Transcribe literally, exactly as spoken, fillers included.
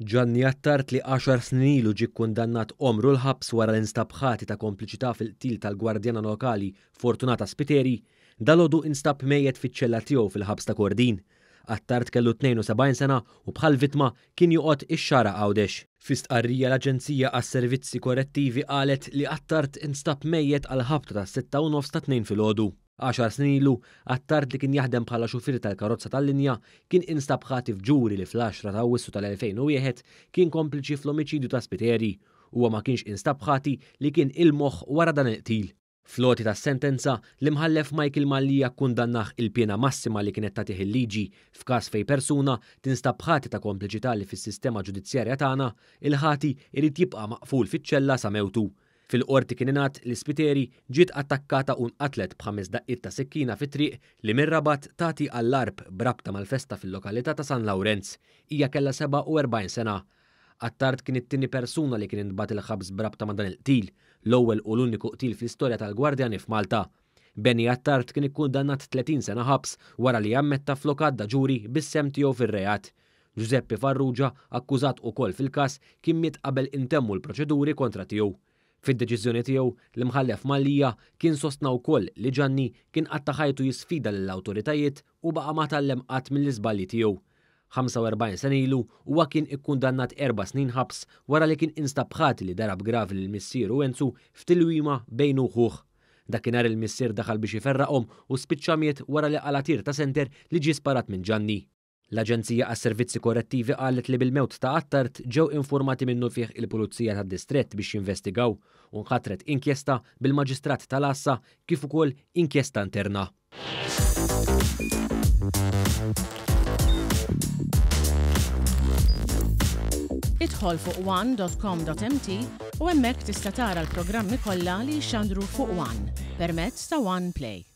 Gianni Attard li għaxar snin ilu ġie kkundannat għomru l-ħabs wara li nstab ħati ta' kompliċità fil-qtil tal-gwardjana lokali Fortunata Spiteri, dalgħodu instab mejjet fiċ-ċella tiegħu fil-ħabs ta' Kordin. Attard kellu tnejn u sebgħin sena u bħal vittma kien joqgħod ix-Xagħra Għawdex. Fi stqarrija l-Aġenzija għas-Servizzi Korrettivi qalet li Attard instab mejjet għal ħabta tas-sitta u nofs ta' Tnejn filgħodu. Għaxar snin ilu, Attard li kien jaħdem bħala xufier tal-karozza tal-linja kien instab ħati f'ġuri li fl-għaxra ta' Awwissu tal-elfejn u wieħed kien kompliċi fl-omiċidju ta' Spiteri. Huwa ma kienx instab ħati li kien il-moħħ wara dan il-qtil. Fl-għoti tas-sentenza, l-imħallef Michael Mallia kkundannah il-piena massima li kienet tagħtih il-liġi f'każ fejn persuna tinstab ħati ta' kompliċità li fis-sistema ġudizzjarja tagħna, il-ħati irid jibqa' maqful fiċ-ċella sa mewtu. Fil-qorti kien ingħad li Spiteri ġiet attakkata u nqatlet b'ħames daqqiet ta' sikkina fit-triq li mir-Rabat tagħti għall-Għarb b'rabta mal-festa fil-lokalità ta' San Lawrenz. Hija kellha sebgħa u erbgħin sena. Attard kien it-tieni persuna li kien intbagħat il-ħabs b'rabta ma' dan il-qtil, l-ewwel u l-uniku qtil fl-istorja tal-Gwardjani f'Malta. Benny Attard kien ikkundannat tletin sena ħabs wara li ammetta flok għadda ġuri bis-sehem tiegħu fir-reat. Giuseppe Farrugia, akkużat ukoll fil-każ, kien miet qabel intemmu l-proċeduri kontra tiegħu. Fid-deċiżjoni tiegħu, l-imħallef Mallia kien sostna wkoll li Gianni kien qatta' ħajtu jisfida lill-awtoritajiet u baqa' ma tgħallem qatt mill-iżbalji tiegħu. ħamsa u erbgħin sena ilu huwa kien ikkundannat erba' snin ħabs wara li kien instab ħati li darab gravi lil missieru Enzu f'tilwima bejnu u ħuh. Dakinhar il-missier daħal biex iferraqhom u spiċċa miet wara li qala tir ta' senter li ġie sparat minn Gianni. L-Aġenzija għas-Servizzi Korrettivi qalet li bil-mewt ta' Attard ġew informati minnu fih il-Pulizija tad-Distrett biex jinvestigaw u nħatret inkjesta bil-Maġistrat tal-Għassa kif ukoll inkjesta interna. Idħol fuq one dot com dot m t u hemmhekk tista' tara l-programmi kollha li jixxandru fuq One permezz ta' One Play.